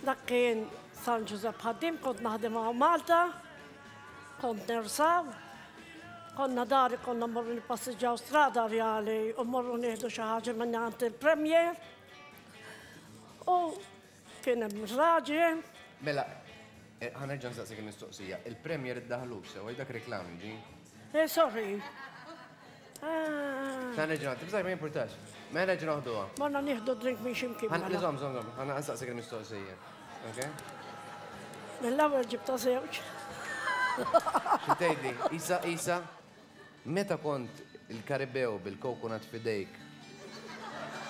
Dak kien San Ġużepp Ħaddiem, kont naħdem hawn Malta, kont nersaw. Konna dari konna mmorru nippassiġġaw Strada Rjali u mmorru nieħdu xi ħaġa minn għand il-Premier. U kien hemm raġel. Mela, eh, ħa nerġa' nsaqsik il-mistoqsija. Il-Premier iddaħlux sewa dak reklami ġi? Eh, sorry. Ah. Ħa nerġa' tibżaj ma jimpurtax. Mela nerġa' noħduha. Morna nieħdu drink minn x'imkien. Ħa żomm, żomm, żomm, ħa nsaqsik il-mistoqsija. Ok? Mill-ewwel ġibta żewġ. Xi tgħidli? Isa, Isa, meta kont il-Karibew bil-coconut f'idejk?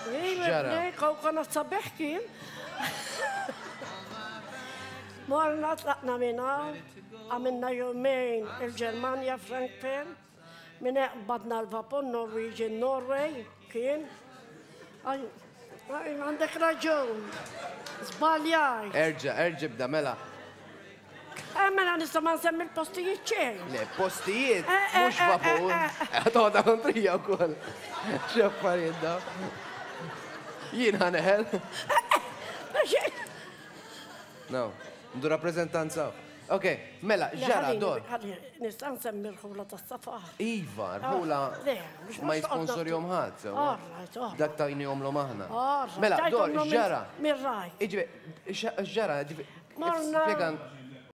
X'ġara? Coconut sabiħ kien. Morna tlaqna minn hawn, għamilna jumejn il-Ġermanja, Frankfurt. Minn hekk qbadna l-vapur Norwegian Norway kien. Għandek raġun. Żbaljajt. Erġa', erġa' ibda mela. Eh, mela nista' ma nsemmi l-postijiet xejn. Le, postijiet, eh, eh, mhux vapur. Toqgħod kontrija wkoll. X'affarijiet da. Jien ħaneħel. No, ndu rappreżentanza. Ok, mela, ġara, dor. Nista' nsemmi rħula tas-safa. Iva, rħula ma jisponsorjom ħadd. Dak tajnihom l aħna. Mela, dor, ġara. Mirraj. Iġi, ġara, Morna.